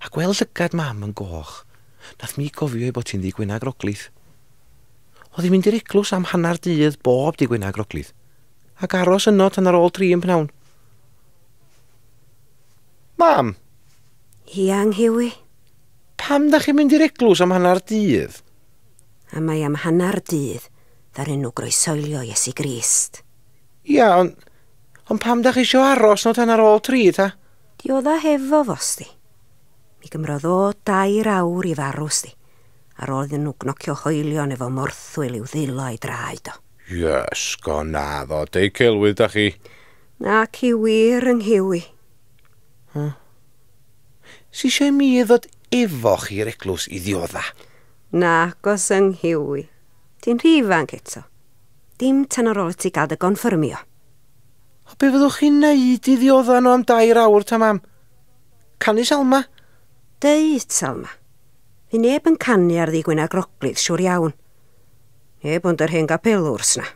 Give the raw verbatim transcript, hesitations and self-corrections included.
A gweld llygad mam yn goch, nath mi gofio ei bod hi'n ddi Gwener Groglith. Oedd hi'n mynd i'r eglwys am hanner dydd bob di Gwener Groglith, ac aros yno tan ar ôl tri yn pnawn. Mam! Ia, Nghiwi? Pam da chi'n mynd i'r eglwys am hanner dydd? A mae am hanner dydd ddaru nhw groesoelio Iesu Grist. Ia, ond on pam da chi isio aros no tan ar ôl tri, ta? Diodda hefo fo, sti. Mi gymrodd o dair awr i farw, sti. Ar ôl iddyn nhw gnocio hoelion efo morthwyl i'w ddwylo a'i draed o. Iesgo naddo, deu celwydd da chi. Nac i wir yng Nghiwi. Huh. Si eisiau mi ddod efo chi i'r eglwys i ddiodda? Nagos yng Nghiwi. Ti'n rhy ifanc eto. Dim tan ar ôl i ti gael dy gonffyrmio. O be fyddwch chi'n neud i ddiodda nhw am dair awr ta, mam? Canu Salma? Deud, Salma. Fi neb yn canu ar ddi Gwener Groglith, siŵr iawn. Neb ond yr hen gapelwrs na.